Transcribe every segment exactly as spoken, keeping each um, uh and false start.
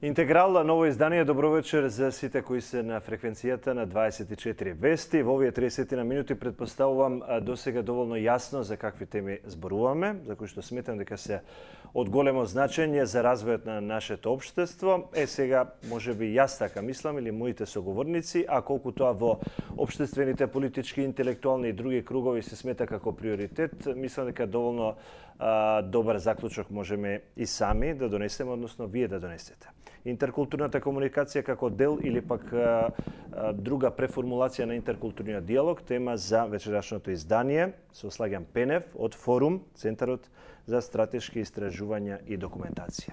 Интеграл, ново издание. Добро вечер за сите кои се на фреквенцијата на дваесет и четири вести. Во овие триесет на минути предпоставувам досега доволно јасно за какви теми зборуваме, за кои што сметам дека се од големо значење за развојот на нашето општество. Е сега, можеби јас така мислам или моите соговорници, а колку тоа во општествените, политички, интелектуални и други кругови се смета како приоритет, мислам дека доволно а, добар заклучок можеме и сами да донесеме, односно вие да донесете. Интеркултурната комуникација како дел или пак а, а, друга преформулација на интеркултурниот диалог, тема за вечерашното издание со Слагјан Пенев од Форум, Центарот за стратешки истражувања и документација.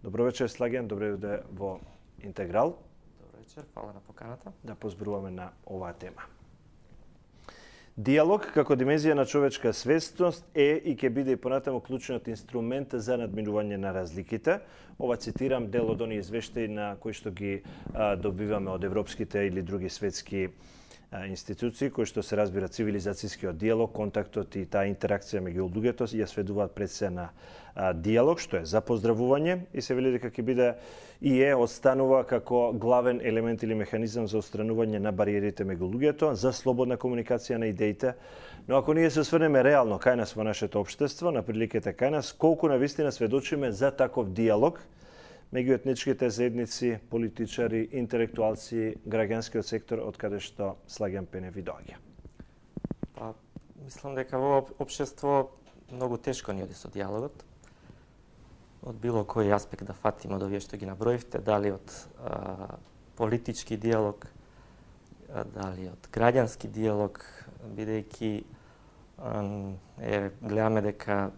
Добро вечер, Слагјан, добре дојде во Интеграл. Добро вечер, фала на поканата. Да позборуваме на оваа тема. Диалог како димензија на човечка свесност е и ќе биде и понатаму клучниот инструмент за надминување на разликите. Ова цитирам дел од оние извештаи на кои што ги а, добиваме од европските или други светски а, институции, кои што се разбира цивилизацијскиот диалог, контактот и таа интеракција меѓу луѓето ја сведуваат пред се на а, диалог, што е за поздравување и се вели дека ќе биде и е останува како главен елемент или механизам за отстранување на бариерите меѓу луѓето, за слободна комуникација на идеите. Но ако ние се осврнеме реално кај нас во нашето општество, на приликите кај нас, колку навистина сведочиме за таков диалог меѓу етничките заедници, политичари, интелектуалци, граѓанскиот сектор, од каде што Слагјан Пенев ви доаѓа? Па, мислам дека во општество многу тешко ни оди со диалогот. Од било кој аспект да фатиме од овие што ги наброивте, дали од а, политички диалог, а, дали од граѓански диалог, бидејќи е, гледаме дека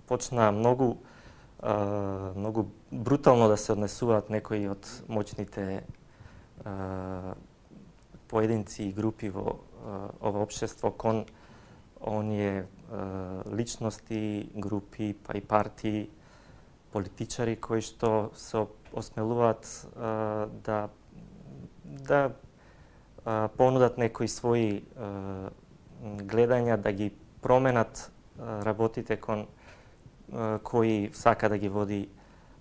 почна многу а, многу брутално да се однесуваат некои од моćните а, поединци и групи во а, ова општество кон оние личности, групи, па и партии, политичари кои што се осмелуваат а, да да а, понудат некои своји а, гледања, да ги променат а, работите кон а, кои сака да ги води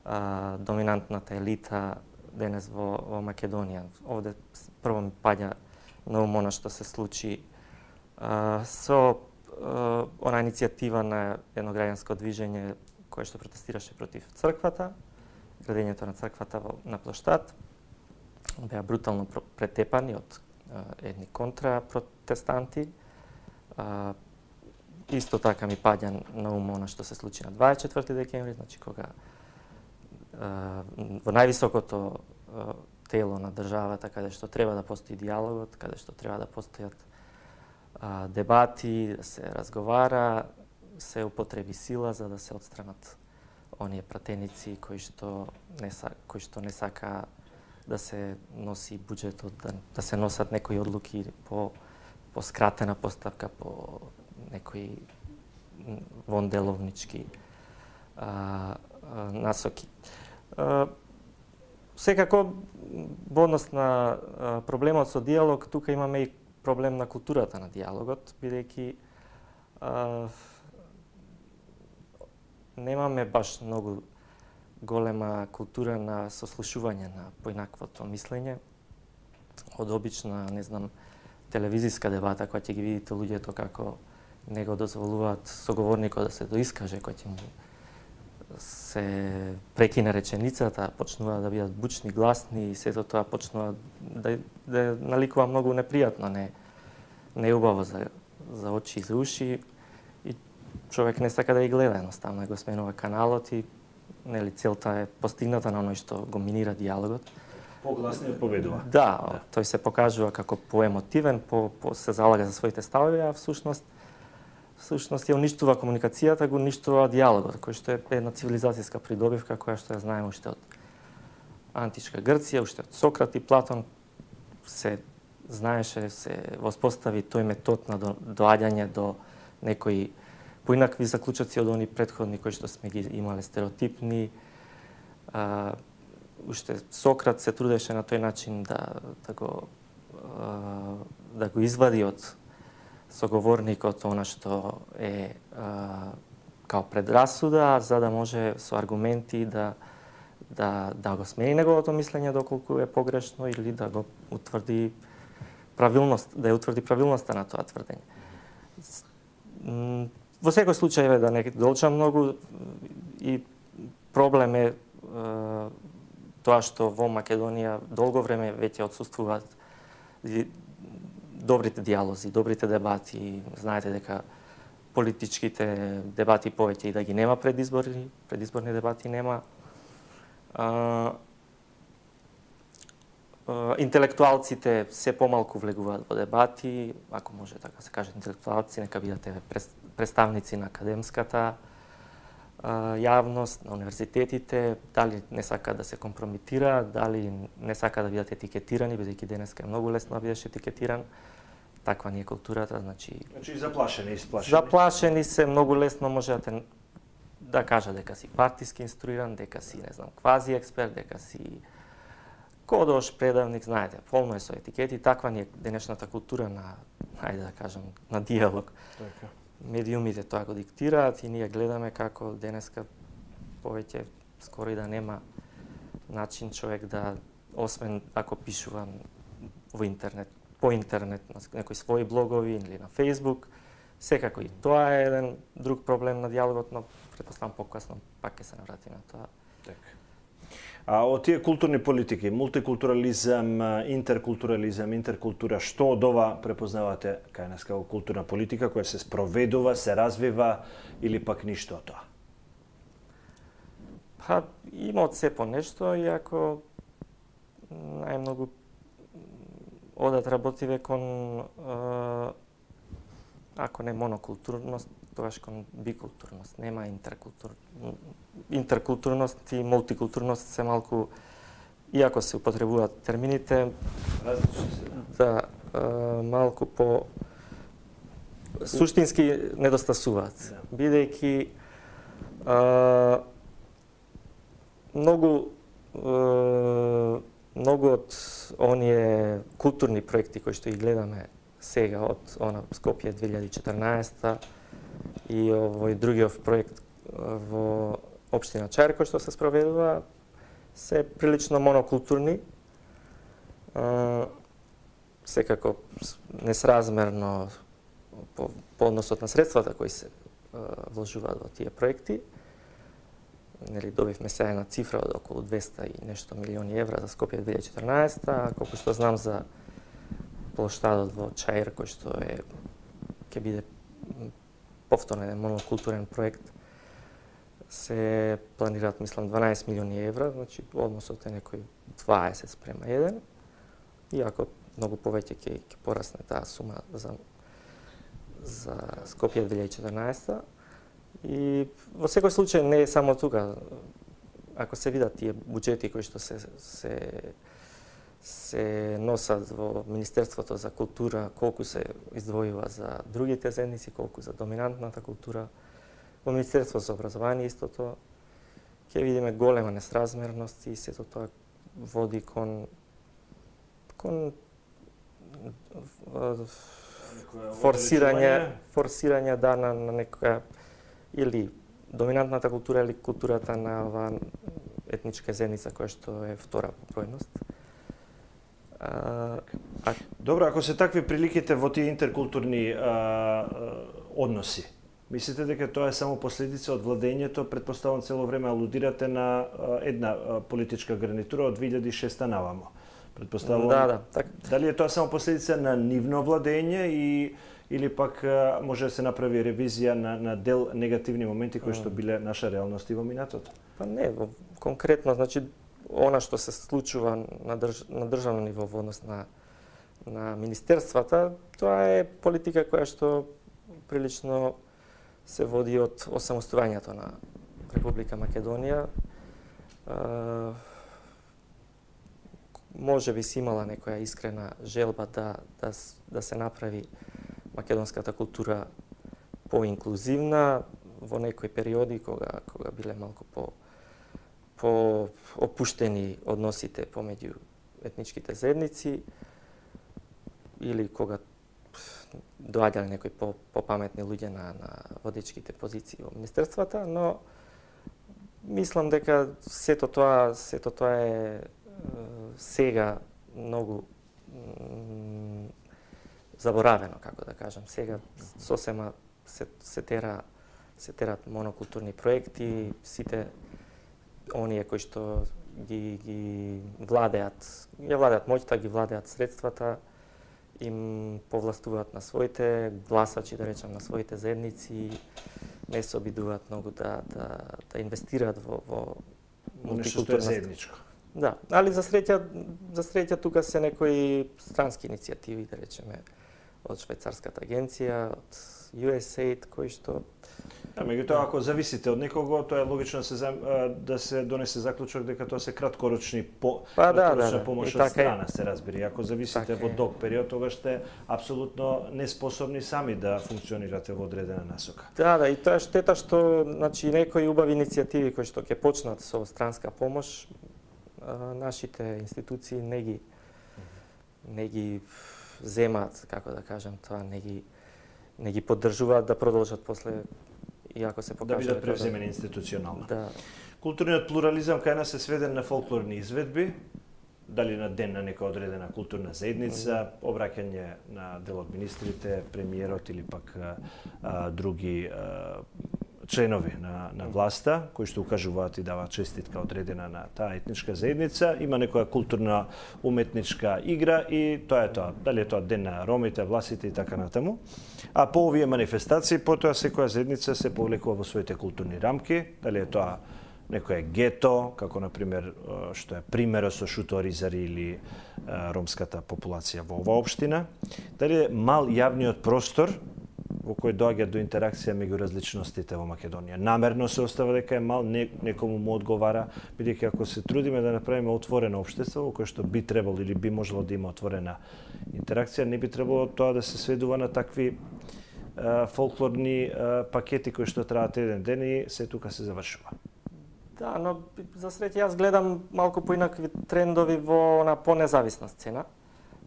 а, доминантната елита денес во, во Македонија. Овде прво ми паѓа на ум она што се случи а, со она иницијатива на едно граѓанско движење кое што протестираше против црквата, градењето на црквата на плоштад, беа брутално претепани од едни контрапротестанти. Исто така ми паѓа на ум она што се случи на дваесет и четврти декември, значи кога во највисокото тело на државата, каде што треба да постои диалогот, каде што треба да постојат дебати, да се разговара, се употреби сила за да се отстранат оние пратеници кои што не са, кои што не сака да се носи буџетот, да, да се носат некои одлуки по по скратена поставка, по некои вонделовнички а, а, насоки. А, секако во однос на а, проблемот со диалог, тука имаме и проблем на културата на диалогот, бидејќи немаме баш многу голема култура на сослушување на поинаквото мислење. Од обична, не знам, телевизиска дебата која ќе ги видите луѓето како не го дозволуваат соговорникот да се доискаже, кој ќе му се прекине реченицата, почнува да бидат бучни, гласни и сето тоа почнува да, да наликува многу непријатно, не, не е убаво за, за очи и за уши и човек не сака да ги гледа, едноставно го сменува каналот и нели целта е постигната на оној што го минира диалогот. Погласниот победува. Да, да, тој се покажува како поемотивен, по, по се залага за своите ставови, а всушност всушност ја уништува комуникацијата, го уништува диалогот, кој што е една цивилизацијска придобивка која што ја знаеме уште од античка Грција, уште од Сократ и Платон се знаеше, се воспостави тој метод на доаѓање до некои поинакви заклучоци од они претходни кои што сме ги имале стереотипни. А, уште Сократ се трудеше на тој начин да да го а, да го извади од соговорникот она што е а, као предрасуда, за да може со аргументи да да, да го смени неговото мислење доколку е погрешно или да го утврди правилност, да ја утврди правилноста на тоа тврдење. Во секој случај е да не долчам многу и проблем е, е тоа што во Македонија долго време веќе отсуствуваат добрите диалози, добрите дебати. Знаете дека политичките дебати повеќе и да ги нема предизборни, предизборни дебати нема. А, а, интелектуалците се помалку влегуваат во дебати, ако може така се каже интелектуалци, нека бидат представници на академската а, јавност, на универзитетите, дали не сака да се компрометира, дали не сака да бидат етикетирани, бидејќи денеска е многу лесно да бидеш етикетиран. Таква ни е културата, значи... Значи заплашени, исплашени. Заплашени се, многу лесно можете да кажа дека си партиски инструиран, дека си, не знам, квази експерт, дека си кодош, предавник, знаете, полно е со етикети. Таква ни е денешната култура на, хајде да кажам, на диалог. Така. Медиумите тоа го диктираат и ние гледаме како денеска повеќе скоро и да нема начин човек да, освен ако пишува во интернет, по интернет, на некои своји блогови или на Facebook, секако и тоа е еден друг проблем на диалогот, но претпоставам покасно пак ќе се наврати на тоа. Така. А од тие културни политики, мултикултурализам, интеркултурализам, интеркултура, што од ова препознавате кај нас како културна политика која се спроведува, се развива или пак ништо од тоа? Па има од се по нешто, иако најмногу одат работиве кон, ако не монокултурност, тогаш кон бикултурност. Нема интеркултур... интеркултурност и мултикултурност се малку, иако се употребуваат термините, различни се. Да, малку по суштински недостасуваат. Да. Бидејќи многу многу од оние културни проекти кои што ги гледаме сега од она Скопје две илјади и четрнаесета и овој другиот проект во општина Чаир кој што се спроведува се прилично монокултурни. Секако несразмерно по, по односот на средствата кои се вложуваат во тие проекти. Нели, добивме сега една цифра од околу двеста и нешто милиони евра за Скопје две илјади и четрнаесета, колку што знам за плоштадот во Чаир, кој што е ќе биде повторно еден монокултурен проект, се планираат, мислам, дванаесет милиони евра, значи односот е некој дваесет спрема еден, иако многу повеќе ќе ќе порасне таа сума за за Скопје две илјади и четрнаесета. И во секој случај не е само тука. Ако се видат тие буџети кои што се се се носат во Министерството за култура, колку се издвојува за другите заедници, колку за доминантната култура, во Министерството за образование истото, ќе видиме голема несразмерност и сето тоа води кон кон форсирање форсирање да на, на некоја или доминантната култура или културата на оваа етничка заедница која што е втора по бројност. А, а... Добро, ако се такви приликите во тие интеркултурни а, а, односи, мислите дека тоа е само последица од владењето? Претпоставам цело време алудирате на а, една а, политичка гарнитура од две илјади и шеста навамо. Претпоставам. Да, да, так. Дали е тоа само последица на нивно владење и или пак а, може да се направи ревизија на, на дел негативни моменти кои што биле наша реалност и во минатото? Па не, конкретно, значи, она што се случува на, држ, на државно ниво во однос на, на министерствата, тоа е политика која што прилично се води од осамостојањето на Република Македонија. А, може би си имала некоја искрена желба да, да, да се направи македонската култура поинклузивна во некои периоди кога кога биле малку по по опуштени односите помеѓу етничките заедници или кога доаѓале некои по попаметни луѓе на на водечките позиции во министерствата, но Мислам дека сето тоа, сето тоа е сега многу заборавено, како да кажам. Сега сосема се, се тера се терат монокултурни проекти, сите оние кои што ги ги владеат, ги владеат моќта, ги владеат средствата, им повластуваат на своите гласачи, да речам, на своите заедници, не се обидуваат многу да да да инвестираат во во мултикултурно заедничко. Да, али за среќа за среќа тука се некои странски иницијативи, да речеме, од швајцарската агенција, од ю ес ей ай ди, кои што А меѓутоа, ако зависите од некого, тоа е логично да се да се донесе заклучок дека тоа се краткорочни по па, да, краткорочна да, да. помош од страна, се разбери. Ако зависите во долг период, тогаш сте апсолутно неспособни сами да функционирате во одредена насока. Да, да, и тоа е штета што, значи, некои убави иницијативи кои што ќе почнат со странска помош, нашите институции не ги не ги земаат, како да кажам, тоа не ги не ги поддржуваат да продолжат после, иако се покажа да бидат превземени институционално. Да. Културниот плурализам кај нас е сведен на фолклорни изведби, дали на ден на нека одредена културна заедница, обраќање на дел од министрите, премиерот или пак а, други а, членови на, на власта, кои што укажуваат и даваат честитка одредена на таа етничка заедница, има некоја културна уметничка игра и тоа е тоа. Дали е тоа ден на ромите, власите и така натаму. А по овие манифестации, потоа секоја заедница се повлекува во своите културни рамки, дали е тоа некое гето, како на пример што е примерот со Шуто Оризари или ромската популација во оваа општина, дали е мал јавниот простор во кој доаѓа до интеракција меѓу различностите во Македонија. Намерно се остава дека е мал, не, некому му одговара, бидејќи ако се трудиме да направиме отворено општество во кое што би требало или би можело да има отворена интеракција, не би требало тоа да се сведува на такви а, фолклорни а, пакети кои што траат еден ден и се тука се завршува. Да, но за среќа јас гледам малку поинакви трендови во на понезависна сцена.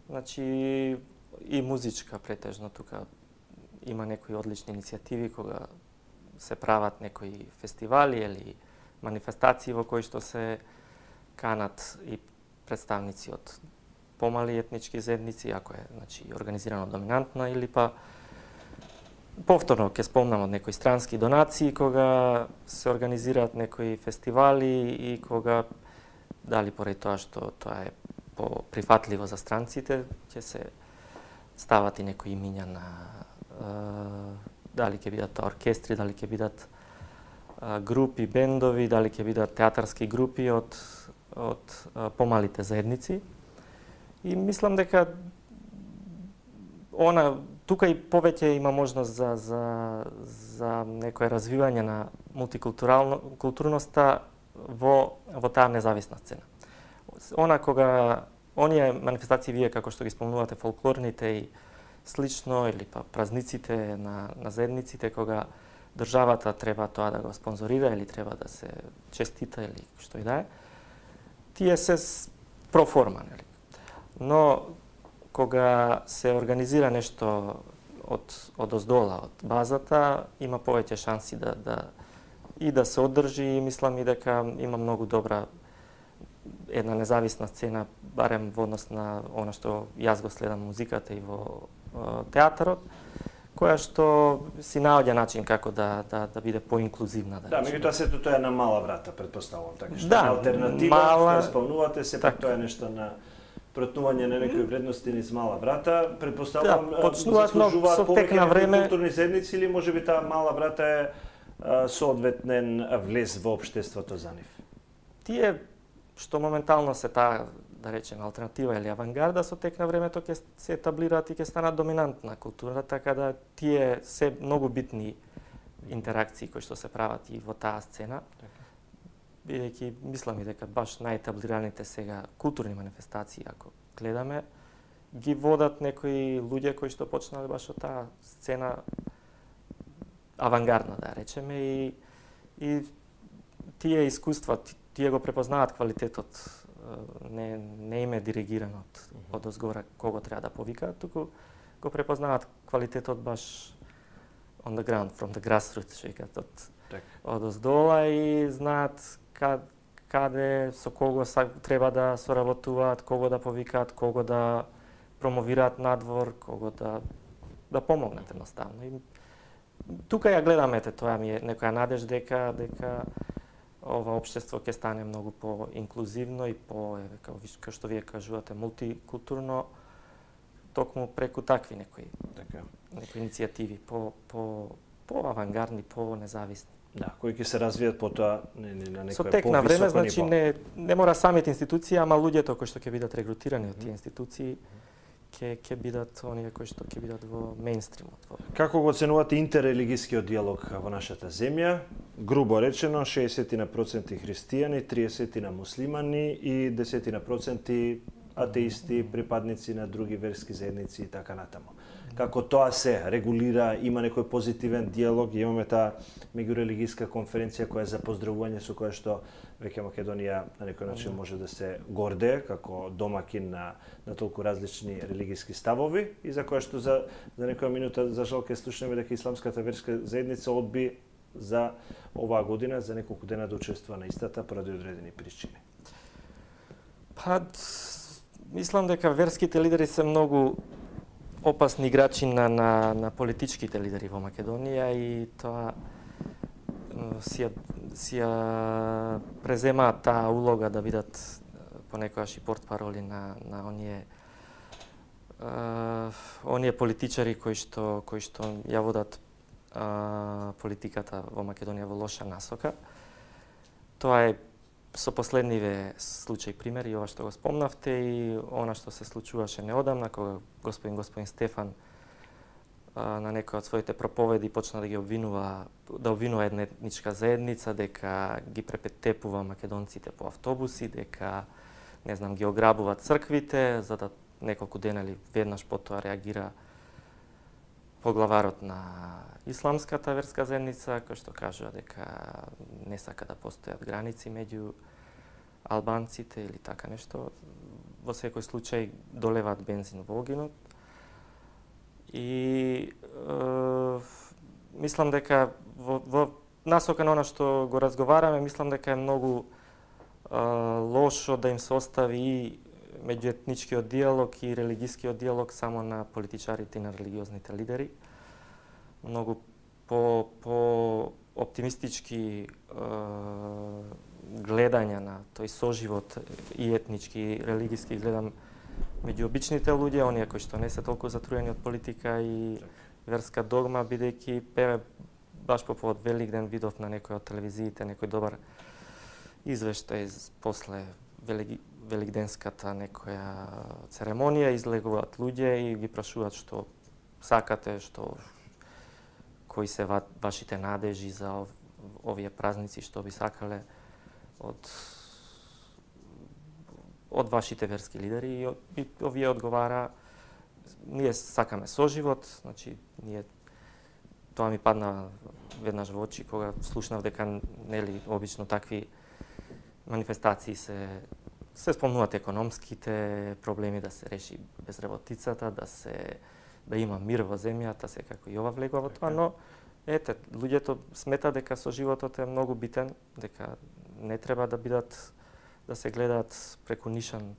Значи и музичка претежно тука има некои одлични иницијативи кога се прават некои фестивали или манифестации во кои што се канат и представници од помали етнички заедници, ако е, значи, организирано доминантна, или па повторно ќе спомнам од некои странски донации кога се организираат некои фестивали и кога дали поради тоа што тоа е поприфатливо за странците, ќе се стават и некои имиња на дали ќе бидат оркестри, дали ќе бидат групи, бендови, дали ќе бидат театарски групи од од помалите заедници. И мислам дека она тука и повеќе има можност за за за некое развивање на мултикултурално културноста во во таа независна сцена. Она кога оние манифестации вие како што ги спомнувате фолклорните и слично или па празниците на на заедниците кога државата треба тоа да го спонзорира или треба да се честита или што и да е, тие се проформа, нели? Но кога се организира нешто од од оздола, од базата, има повеќе шанси да да и да се одржи и мислам и дека има многу добра една независна сцена, барем во однос на она што јас го следам музиката и во театарот, која што си наоѓа начин како да да да биде поинклузивна, да. Да, меѓутоа сето тоа е на мала врата, претпоставувам, така што да, е алтернатива, мала... што спомнувате, сепак така. Тоа е нешто на претнување на некои вредности низ мала врата, претпоставувам, да, заслужуваат со тек на време културни заедници или можеби таа мала врата е соодветнен влез во општеството за нив. Тие што моментално се таа, да речеме, алтернатива или авангарда, со тек на времето ќе се етаблираат и ќе станат доминантна култура, така да тие се многу битни интеракции кои што се прават и во таа сцена. Бидејќи мислам и дека баш најетаблираните сега културни манифестации, ако гледаме, ги водат некои луѓе кои што почнале баш од таа сцена авангардна, да речеме, и, и тие искуства, тие го препознаат квалитетот, не, не им е диригирано од, од озгора кого треба да повикаат, туку го препознаат квалитетот баш on the ground, from the grassroots, што од Так. одоздола и знаат кад, каде, со кого треба да соработуваат, кого да повикаат, кого да промовираат надвор, кого да да помогнат едноставно. И тука ја гледаме, тоа ми е некоја надеж дека дека ова општество ќе стане многу по-инклузивно и по, како што вие кажувате, мултикултурно, токму преку такви некои така некои иницијативи, по по по авангардни, по независни. Да, кои ќе се развијат потоа не, не, на некој со тек на време, значи ниво. не не мора самите институции, ама луѓето кои што ќе бидат регрутирани од тие институции ќе ќе бидат оние кои што ќе бидат во мејнстримот. Во... Како го оценувате интеррелигискиот диалог во нашата земја? Грубо речено, шеесет проценти христијани, триесет на муслимани и десет проценти атеисти, припадници на други верски заедници и така натаму. Како тоа се регулира, има некој позитивен диалог, имаме таа меѓурелигиска конференција која е за поздравување, со која што веќе Македонија на некој начин може да се гордее како домакин на, на толку различни религиски ставови и за која што за, за некоја минута за жал ке слушнеме дека исламската верска заедница одби за оваа година за неколку дена да учествува на истата поради одредени причини. Па, мислам дека верските лидери се многу опасни играчи на, на, на политичките лидери во Македонија и тоа си ја, си ја преземаат таа улога да бидат понекогаш и портпароли на, на оние uh, оние политичари кои што кои што ја водат uh, политиката во Македонија во лоша насока. Тоа е со последниве случаи примери, ова што го спомнавте и она што се случуваше неодамна, кога господин господин Стефан а, на некој од своите проповеди почна да ги обвинува, да обвинува една етничка заедница, дека ги препетепува македонците по автобуси, дека, не знам, ги ограбува црквите, за да неколку дена или веднаш потоа реагира поглаварот на исламската верска заедница, кој што кажува дека не сака да постојат граници меѓу албанците или така нешто. Во секој случај долеваат бензин во огинот. И е, мислам дека во, во насока на она што го разговараме, мислам дека е многу е, лошо да им се остави и меѓуетничкиот диалог и религискиот диалог само на политичарите и на религиозните лидери. Многу по, по оптимистички е, гледања на тој соживот и етнички и религиски гледам меѓу обичните луѓе, оние кои што не се толку затруени од политика и верска догма, бидејќи певе баш по повод Великден видов на некој од телевизиите некој добар извештај после Велики великденската некоја церемонија, излегуваат луѓе и ги прашуваат што сакате, што кои се ва, вашите надежи за ов, овие празници, што би сакале од од вашите верски лидери и, и овие одговара ние сакаме соживот, значи ние тоа ми падна веднаш во очи кога слушнав дека нели обично такви манифестации се се спомнуваат економските проблеми, да се реши безработицата, да се да има мир во земјата, секако и ова влегува во тоа, но ете, луѓето смета дека соживотот е многу битен, дека не треба да бидат да се гледаат преку нишан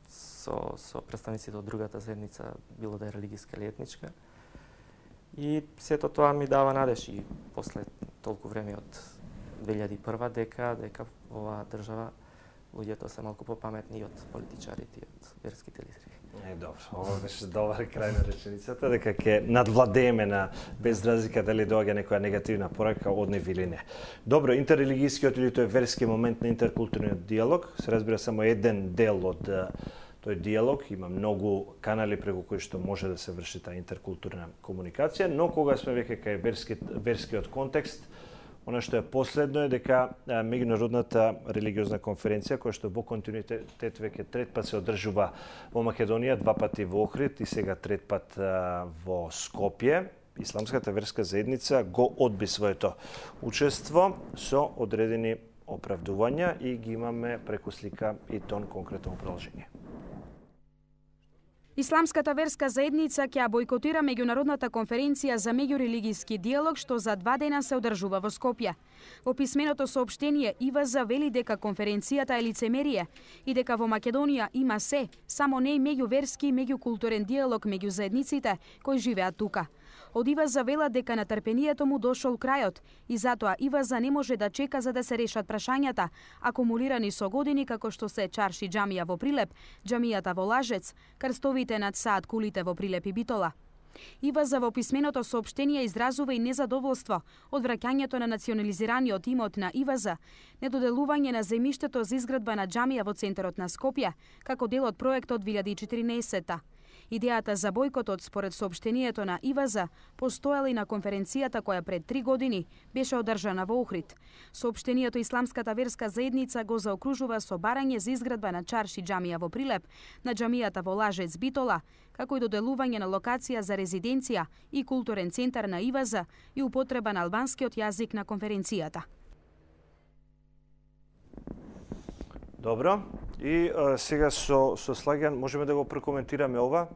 со со представниците од другата заедница, било да е религиска или етничка. И сето тоа ми дава надеж и после толку време од две илјади и прва дека дека во оваа држава луѓето се малку попаметни од политичарите и од верските лидери. Е, добро, ова беше добар крај на реченицата, дека ќе надвладееме на без разлика дали доаѓа некоја негативна порака од нив или не. Добро, интеррелигискиот или тој верски момент на интеркултурниот диалог, се разбира само еден дел од тој диалог, има многу канали преку кои што може да се врши таа интеркултурна комуникација, но кога сме веќе кај верски, верскиот контекст, она што е последно е дека меѓународната религиозна конференција, која што во континуитет веќе трет пат се одржува во Македонија, два пати во Охрид и сега трет пат во Скопје, исламската верска заедница го одби своето учество со одредени оправдувања и ги имаме преку слика и тон конкретно продолжение. Исламската верска заедница ќе бойкотира меѓународната конференција за меѓурелигиски диалог што за два дена се одржува во Скопје. Во писменото соопштение ИВЗ вели дека конференцијата е лицемерие и дека во Македонија има се, само не и меѓуверски и меѓукултурен диалог меѓу заедниците кои живеат тука. Од ИВЗ велат дека натрпението му дошол крајот и затоа ИВЗ не може да чека за да се решат прашањата, акумулирани со години како што се Чарши џамија во Прилеп, џамијата во Лажец, крстовите над Саат кулите во Прилеп и Битола. ИВЗ во писменото соопштение изразува и незадоволство од враќањето на национализираниот имот на ИВЗ, недоделување на земјиштето за изградба на џамија во центарот на Скопје, како дел од проектот две илјади и четирнаесетта. Идејата за бојкотот според соопштението на ИВЗ постоела и на конференцијата која пред три години беше одржана во Охрид. Соопштението Исламската верска заедница го заокружува со барање за изградба на Чарши џамија во Прилеп, на џамијата во Лажец Битола, како и доделување на локација за резиденција и културен центар на ИВЗ и употреба на албанскиот јазик на конференцијата. Добро. И а, сега со, со Слагјан можеме да го прокоментираме ова.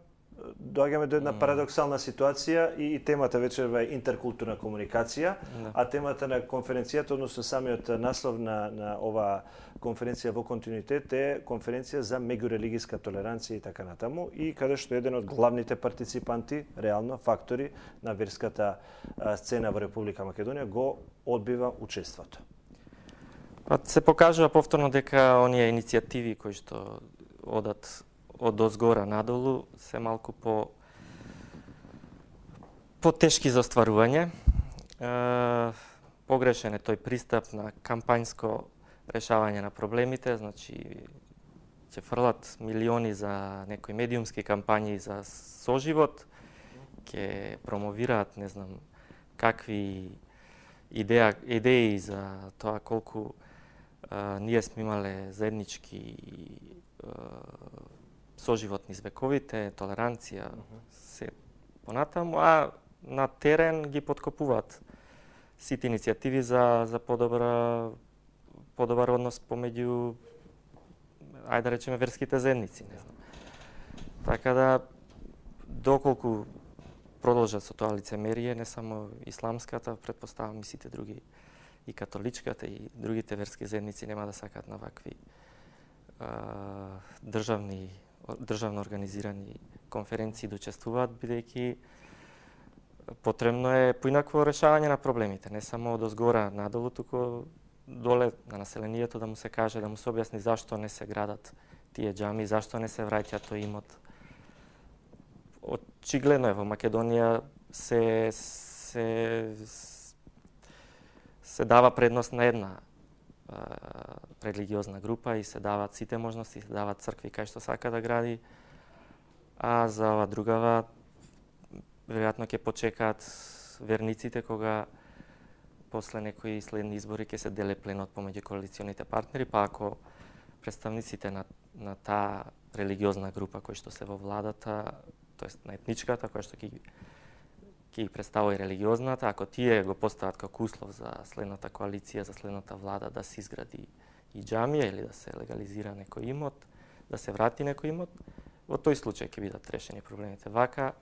Доаѓаме до една парадоксална ситуација и, и темата вечерва е интеркултурна комуникација, да. А темата на конференцијата, односно самиот наслов на, на ова конференција во континуитет е конференција за меѓурелигиска толеранција и така натаму, и каде што еден од главните партиципанти, реално фактори на верската а, сцена во Република Македонија го одбива учеството. Па се покажува повторно дека оние иницијативи кои што одат од озгора надолу се малку по потешки за остварување. Е, погрешен е тој пристап на кампањско решавање на проблемите, значи ќе фрлат милиони за некои медиумски кампањи за соживот, ќе промовираат не знам какви идеја, идеи за тоа колку а, ние сме имале заеднички а, соживот низ вековите, толеранција, uh -huh. се понатаму, а на терен ги подкопуваат сите иницијативи за за подобра подобар однос помеѓу, ајде да речеме, верските заедници, не знам. Така да, доколку продолжат со тоа лицемерие, не само исламската, претпоставам и сите други, и католичката, и другите верски заедници нема да сакаат на вакви а, државни, државно организирани конференции да учествуваат, бидејќи потребно е поинакво решавање на проблемите, не само од озгора надолу, туку доле на населението да му се каже, да му се објасни зашто не се градат тие џами, зашто не се враќа тој имот. Очигледно е во Македонија се се се дава предност на една а, религиозна група и се даваат сите можности, се даваат цркви кај што сака да гради, а за ова другава веројатно ќе почекаат верниците кога после некои следни избори ќе се деле пленот помеѓу коалиционите партнери, па ако представниците на, на таа религиозна група кои што се во владата, тоест на етничката, која што ќе ги представува и религиозната, ако тие го постават како услов за следната коалиција, за следната влада да се изгради и џамија или да се легализира некој имот, да се врати некој имот, во тој случај ќе бидат решени проблемите. Вака,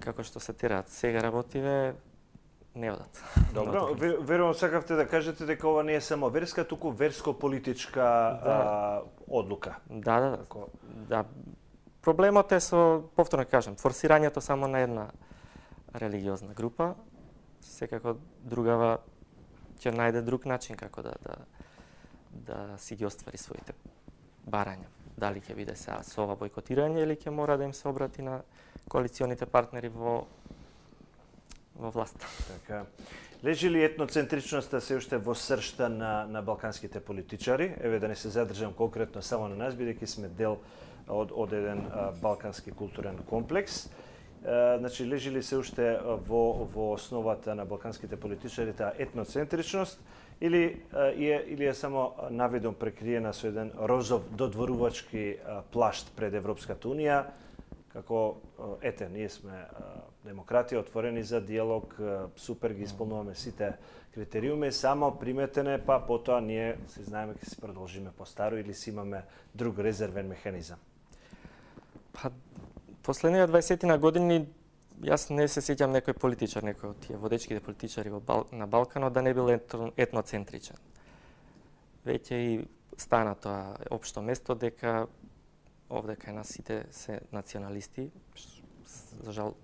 како што се тераат сега работиве, не одат. Добро, верувам сакавте да кажете дека ова не е само верска, туку верско-политичка да. а, одлука. Да, да, Како... да. Проблемот е со, повторно кажам, форсирањето само на една религиозна група, секако другава ќе најде друг начин како да да да си ги оствари своите барања. Дали ќе биде сега со ова бойкотирање или ќе мора да им се обрати на коалиционите партнери во во власт. Така. Лежи ли етноцентричноста се уште во сршта на на балканските политичари? Еве да не се задржам конкретно само на нас, бидејќи сме дел од од еден а, балкански културен комплекс. А, значи лежи ли се уште во во основата на балканските политичари таа етноцентричност или а, е или е само наведом прекриена со еден розов додворувачки а, плашт пред Европската унија? Како, ете, ние сме демократија, отворени за диалог, супер ги исполнуваме сите критериуми, само приметене, па потоа ние си знаеме ќе се продолжиме по старо или си имаме друг резервен механизам. Па, последниве дваесетина години јас не се сеќам некој политичар, некој од тие водечките политичари во Бал... на Балканот да не бил етноцентричен. Веќе и стана тоа општо место дека овде кај нас сите се националисти. За жал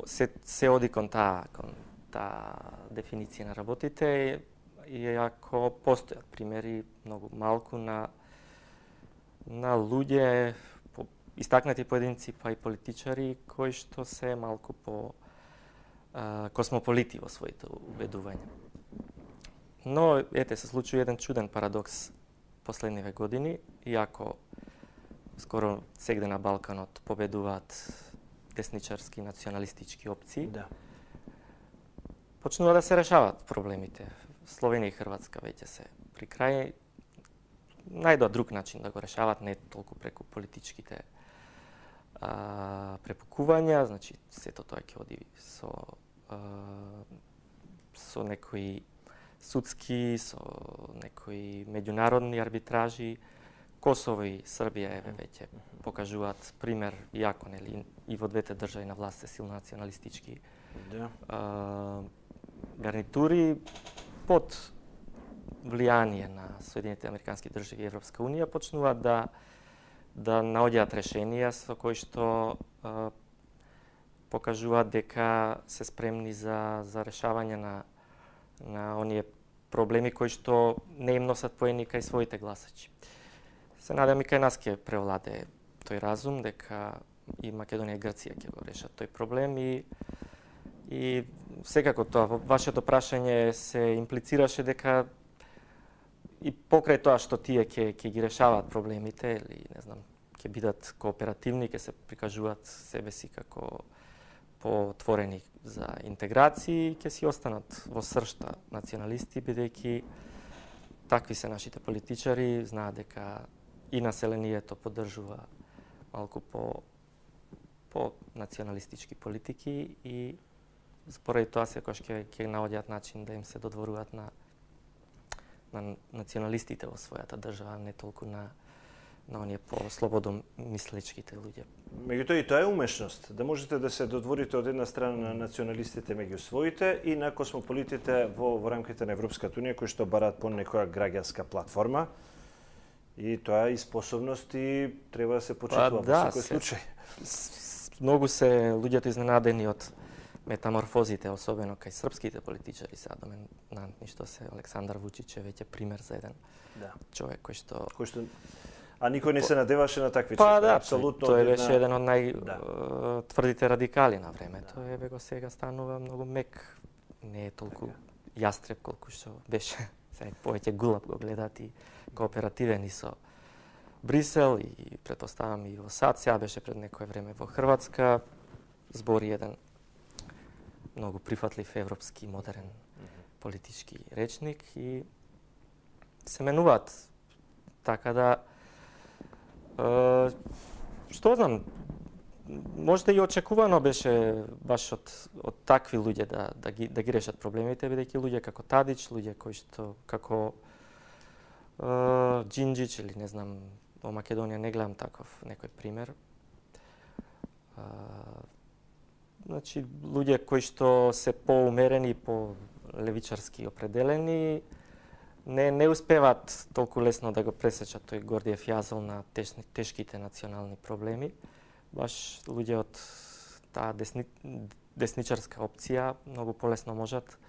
се, се оди кон таа кон таа дефиниција на работите, иако постојат примери многу малку на на луѓе, по, истакнати поединци, па и политичари кои што се малку по а, космополити во своите убедувања. Но ете се случи еден чуден парадокс последниве години, иако скоро сегде на Балканот победуваат десничарски националистички опции. Да. Почнува да се решават проблемите. Словенија и Хрватска веќе се при крај. Најдоа друг начин да го решават, не толку преку политичките а, препукувања, значи сето тоа ќе оди со а, со некои судски, со некои меѓународни арбитражи. Косово и Србија еве веќе покажуваат пример, иако нели и во двете држави на власт се силно националистички Да. а, гарнитури под влијание на Соединетите американски држави и Европска унија почнуваат да да наоѓаат решенија со кои што а, покажуваат дека се спремни за за решавање на на оние проблеми кои што не им носат поени кај своите гласачи. Се надам и кај нас ќе превладее тој разум дека и Македонија и Грција ќе го решат тој проблем и и секако тоа во вашето прашање се имплицираше дека и покрај тоа што тие ќе ќе ги решаваат проблемите или не знам ќе бидат кооперативни, ќе се прикажуваат себе си како поотворени за интеграции, ќе си останат во сршта националисти бидејќи такви се нашите политичари, знаат дека и населението поддржува малку по по националистички политики и споради тоа секогаш ќе ќе наоѓаат начин да им се додворуваат на на националистите во својата држава, не толку на на оние по-слободно мислечките луѓе. Меѓутоа и тоа е умешност, да можете да се додворите од една страна на националистите меѓу своите и на космополитите во, во рамките на Европската унија кои што бараат по некоја граѓанска платформа. И тоа е и способност и треба да се почитува па, да, во секој случај. Многу се луѓето изненадени од метаморфозите, особено кај српските политичари, сега доминантни што се Александар Вучич е веќе пример за еден да. човек кој што кој што а никој не се надеваше на такви па, чифри, да, апсолутно. Тој една... беше еден од најтврдите да. радикали на времето, да. Еве го сега станува многу мек, не е толку така. Јастреб колку што беше. Сега повеќе гулаб го гледат и кооперативен и со Брисел и претпоставам и во САД, сега беше пред некое време во Хрватска, збори еден многу прифатлив европски модерен политички речник и се менуваат. Така да е, што знам, можда и очекувано беше баш од од такви луѓе да да ги да ги решат проблемите, бидејќи луѓе како Тадич, луѓе кои што како е, Джинџич или не знам, во Македонија не гледам таков некој пример. Е, Значи, луѓе кои што се поумерени, по левичарски определени, не не успеваат толку лесно да го пресечат тој Гордиев јазол на тешни, тешките национални проблеми. Баш луѓе од таа десни, десничарска опција многу полесно можат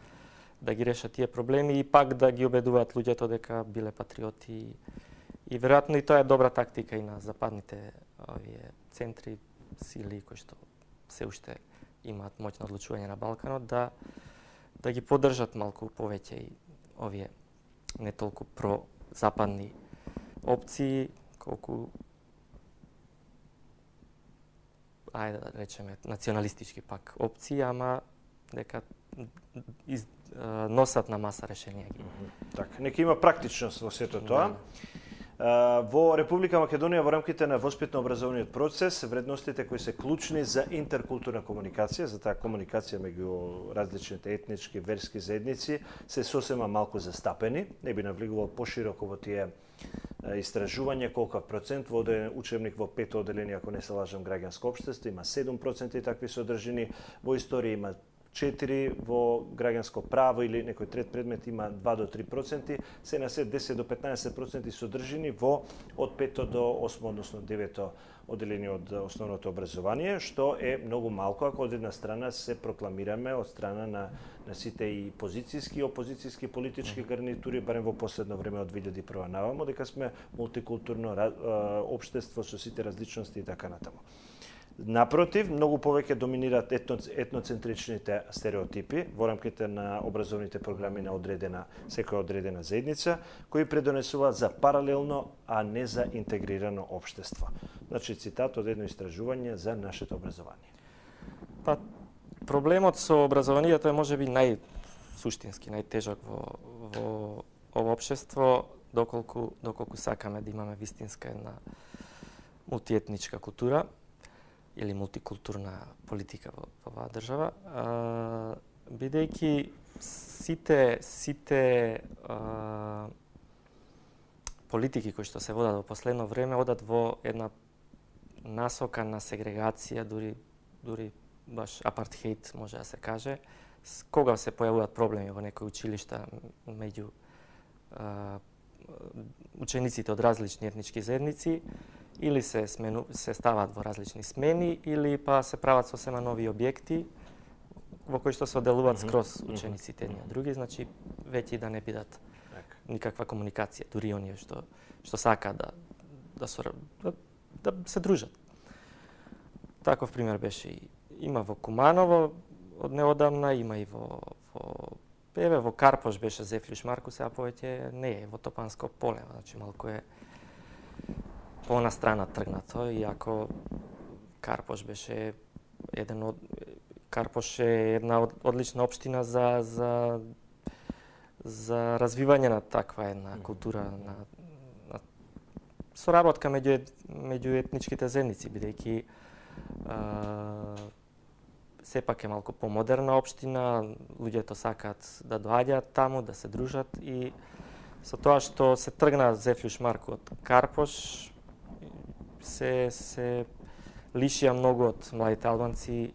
да ги решат тие проблеми и пак да ги убедуваат луѓето дека биле патриоти и, и веројатно и тоа е добра тактика и на западните овие центри, сили кои што се уште имаат моќно одлучување на Балканот, да да ги поддржат малку повеќе и овие не толку про-западни опции, колку ајде да речеме националистички пак опции, ама дека из, носат на маса решенија ги. Така, нека има практичност во сето тоа. Да. Во Република Македонија во рамките на воспитно-образовниот процес, вредностите кои се клучни за интеркултурна комуникација, за таа комуникација меѓу различните етнички, верски заедници, се сосема малку застапени. Не би навлегувал пошироко во тие истражување колку процент во учебник во пет оделение, ако не се лажам, граѓанско општество, има седум проценти такви содржини, во историја има четири, во граѓанско право или некој трет предмет има два до три проценти, се на се десет до петнаесет проценти содржини во од пето до осмо, односно девето оделение од основното образование, што е многу малку ако од една страна се прокламираме од страна на, на сите и позицијски и опозицијски политички гарнитури, барем во последно време од две илјади и прва наваму, дека сме мултикултурно општество со сите различности и така натаму. Напротив, многу повеќе доминираат етно, етноцентричните стереотипи во рамките на образовните програми на одредена, секоја одредена заедница, кои предонесуваат за паралелно, а не за интегрирано општество. Значи, цитат од едно истражување за нашето образование. Па, проблемот со образованието е можеби најсуштински, најтежок во, во ово општество, доколку, доколку сакаме да имаме вистинска една мултиетничка култура или мултикултурна политика во, во оваа држава, а, бидејќи сите сите а, политики кои што се водат во последно време одат во една насока на сегрегација, дури дури баш апартхеид може да се каже, кога се појавуваат проблеми во некои училишта меѓу а, учениците од различни етнички заедници, или се смену, се стават во различни смени, или па се прават сосема нови објекти во кои што се оделуваат mm -hmm. скроз учениците едни од други, значи веќе да не бидат никаква комуникација, дури оние што што сакаат да да, да да се дружат. Таков пример беше и има во Куманово од неодамна, има и во во еве во Карпош беше Зефлиш Марку, сега повеќе не е во Топанско поле, значи малку е по она страна тргнато, иако Карпош беше еден од Карпош е една од, одлична општина за за за развивање на таква една култура на, на соработка меѓу меѓу етничките заедници, бидејќи сепак е малку помодерна општина, луѓето сакаат да доаѓаат таму, да се дружат и со тоа што се тргна Зефлиш Марку од Карпош, се се лишија многу од младите албанци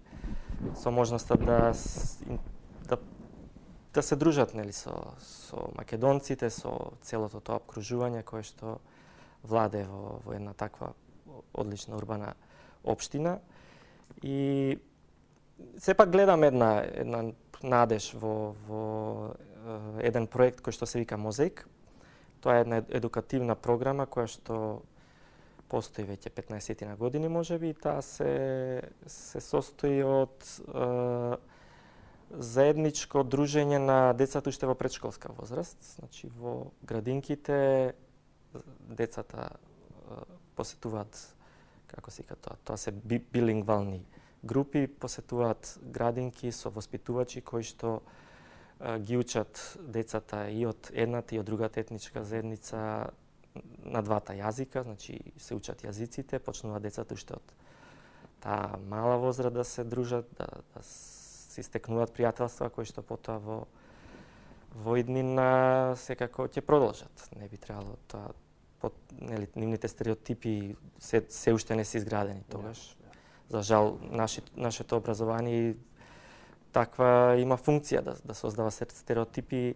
со можноста да да да се дружат, нели, со со македонците, со целото тоа обкружување кое што владе во во една таква одлична урбана општина. И сепак гледам една една надеж во во еден проект кој што се вика Мозаик. Тоа е една едукативна програма која што постои веќе петнаесет години можеби, и таа се се состои од е, заедничко дружење на децата уште во предшколска возраст, значи во градинките децата е, посетуваат, како се вика тоа, тоа се би, билингвални групи, посетуваат градинки со воспитувачи кои што е, ги учат децата и од едната и од другата етничка заедница на двата јазика, значи се учат јазиците, почнуваат децата уште од таа мала возраст да се дружат, да, да се стекнуваат пријателства кои што потоа во во иднина секако ќе продолжат. Не би требало тоа, под, нели, нивните стереотипи се, се уште не се изградени тогаш. За жал, наши, нашето образование таква има функција да, да создава стереотипи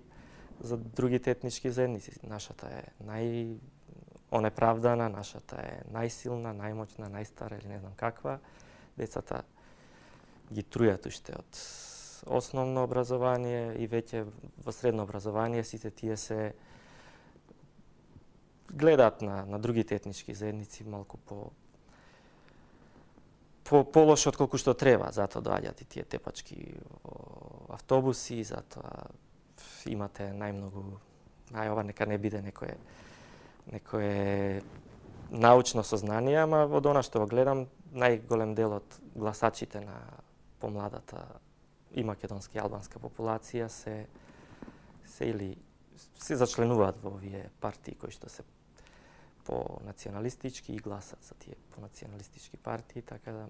за другите етнички заедници. Нашата е нај онеправдана, нашата е најсилна, најмоćна, најстара или не знам каква. Децата ги трујат уште од основно образование и веќе во средно образование сите тие се гледаат на, на другите етнички заедници малку по по полошо од колку што треба, затоа доаѓаат и тие тепачки автобуси, затоа имате најмногу, ај ова нека не биде некое некое научно сознание, ама од она што го гледам, најголем дел од гласачите на помладата и македонска и албанска популација се се или се зачленуваат во овие партии кои што се по националистички и гласат за тие по националистички партии, така да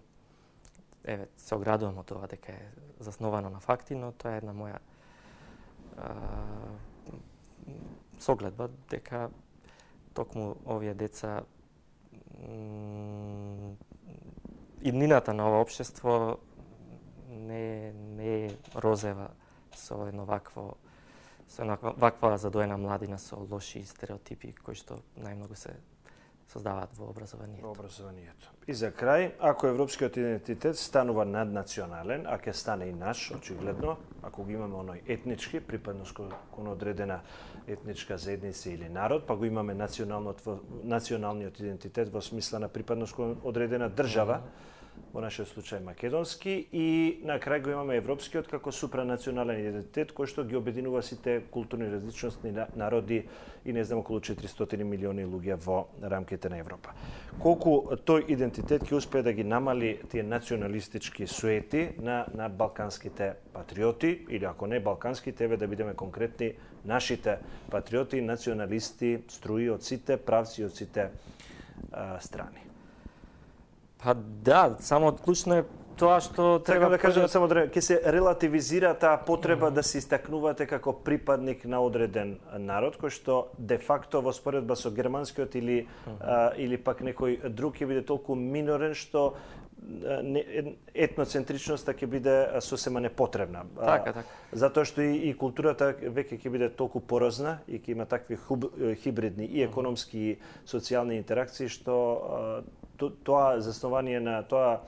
еве се оградувам од тоа дека е засновано на факти, но тоа е една моја а, согледба дека токму овие деца иднината на ова општество не не е розева со едно вакво со една ваква задоена младина со лоши стереотипи кои што најмногу се создаваат во образованието. Во образованието. И за крај, ако европскиот идентитет станува наднационален, а ќе стане и наш, очигледно, ако го имаме оној етнички, припадност кон одредена етничка заедница или народ, па го имаме националниот идентитет во смисла на припадност кон одредена држава, во нашиот случај македонски, и на крај го имаме европскиот како супранационален идентитет кој што ги обединува сите културни различности народи и не знам околу четиристотини милиони луѓе во рамките на Европа. Колку тој идентитет ќе успее да ги намали тие националистички суети на на балканските патриоти, или ако не балканските, еве да бидеме конкретни, нашите патриоти, националисти, струи од сите правци, од сите а, страни. Па да, само клучно е тоа што треба да кажам само да ќе се релативизира таа потреба mm -hmm. да се истакнувате како припадник на одреден народ кој што де факто во споредба со германскиот или mm -hmm. а, или пак некој друг ќе биде толку минорен што етноцентричноста ќе биде сосема непотребна. Така, така. Затоа што и, и културата веќе ќе биде толку порозна и ќе има такви хуб, хибридни и економски и социјални интеракции што тоа заснование на тоа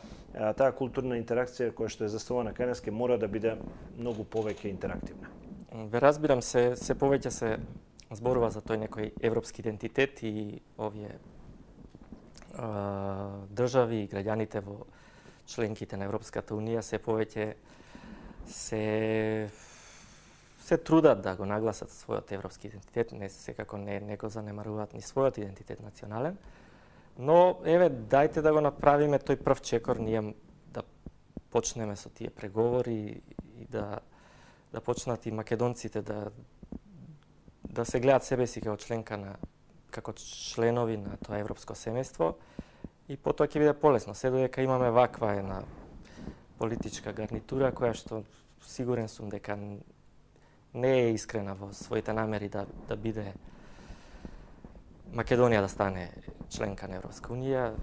таа културна интеракција која што е заснувана кај нас ке мора да биде многу повеќе интерактивна. Ве разбирам се се повеќе се зборува за тој некој европски идентитет и овие а, држави и граѓаните во членките на Европската унија се повеќе се се трудат да го нагласат својот европски идентитет, не секако не не го занемаруваат ни својот идентитет национален. Но, еве, дајте да го направиме тој прв чекор, ние да почнеме со тие преговори и да да почнат и македонците да да се гледаат себе си како членка на како членови на тоа европско семејство и потоа ќе биде полесно. Се додека имаме ваква една политичка гарнитура која што сигурен сум дека не е искрена во своите намери да да биде Македонија да стане членка на Европска унија,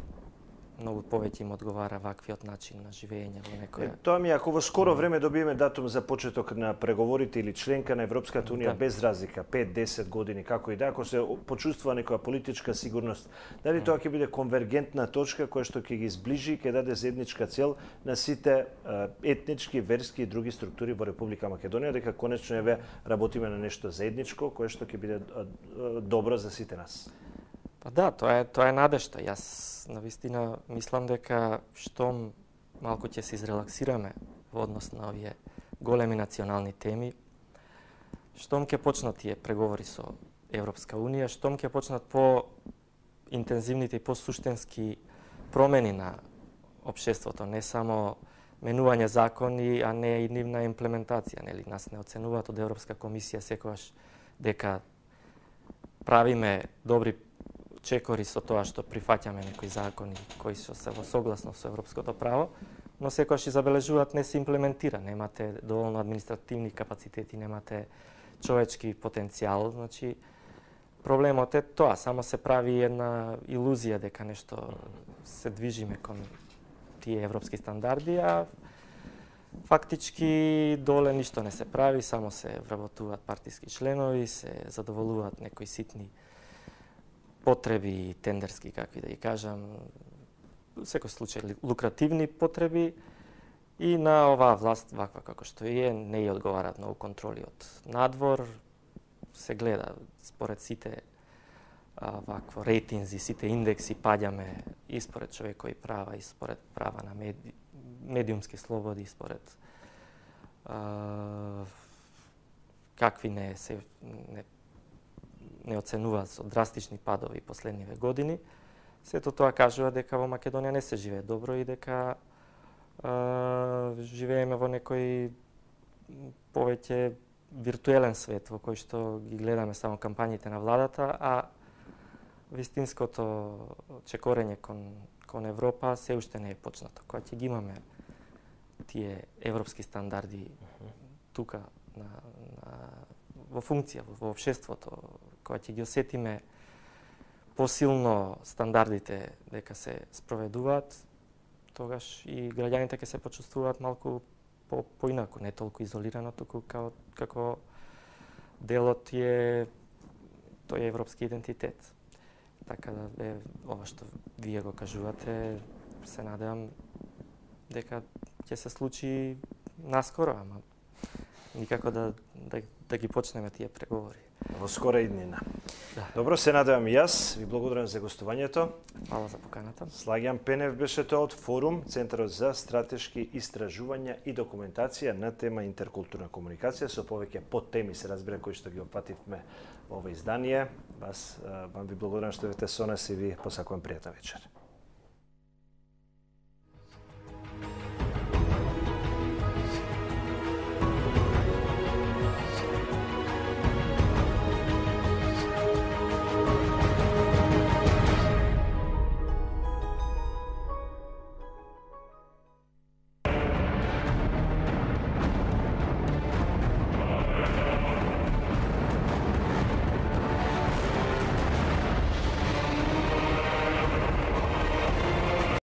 многу повеќе им одговара ваквиот начин на живење во некоја. Тоа ми ако во скоро време добиеме датум за почеток на преговорите или членка на Европската унија, да, без разлика пет-десет години како и да, ако се почувствува некоја политичка сигурност, дали тоа ќе биде конвергентна точка која што ќе ги зближи и ќе даде заедничка цел на сите етнички, верски и други структури во Република Македонија, дека конечно еве работиме на нешто заедничко кое што ќе биде добро за сите нас. Па да, тоа е тоа е надежта. Јас навистина мислам дека штом малку ќе се изрелаксираме во однос на овие големи национални теми, штом ќе почнат тие преговори со Европска унија, штом ќе почнат по интензивните и по-суштински промени на општеството, не само менување закони, а не и нивна имплементација, нели? Нас не оценуваат од Европска комисија секогаш дека правиме добри чекори со тоа што прифаќаме некои закони кои што се во согласно со европското право, но секогаш и забележуваат не се имплементира, немате доволно административни капацитети, немате човечки потенцијал, значи проблемот е тоа, само се прави една илузија дека нешто се движиме кон тие европски стандарди, а фактички доле ништо не се прави, само се вработуваат партиски членови, се задоволуваат некои ситни потреби тендерски, какви да ги кажам, во секој случај лукративни потреби и на оваа власт, ваква како што е, не ја одговараат многу контроли од надвор, се гледа според сите а, вакво рейтинзи, сите индекси паѓаме и според човекови права, и според права на меди, медиумски слободи, според а, какви не се не не оценуваат со драстични падови последниве години. Сето тоа кажува дека во Македонија не се живее добро и дека а, живееме во некој повеќе виртуелен свет во кој што ги гледаме само кампањите на владата, а вистинското чекорење кон, кон Европа се уште не е почнато. Кога ќе ги имаме тие европски стандарди тука на, на во функција во, во општеството, кога ќе ги осетиме посилно стандардите дека се спроведуваат, тогаш и граѓаните ќе се почувствуваат малку по поинаку, не толку изолирано, туку како како делот е тој европски идентитет. Така да е ова што вие го кажувате, се надевам дека ќе се случи наскоро, ама никако да да да ги почнеме тие преговори. Во скора иднина. Да. Добро, се надевам и јас. Ви благодарам за гостувањето. Фала за поканата. Слагјан Пенев беше тоа од Форум, Центарот за стратешки истражувања и документација на тема интеркултурна комуникација, со повеќе подтеми се разбира кои што ги опативме во ова издание. Вас вам ви благодарам што бевте со нас и ви посакувам пријатна вечер.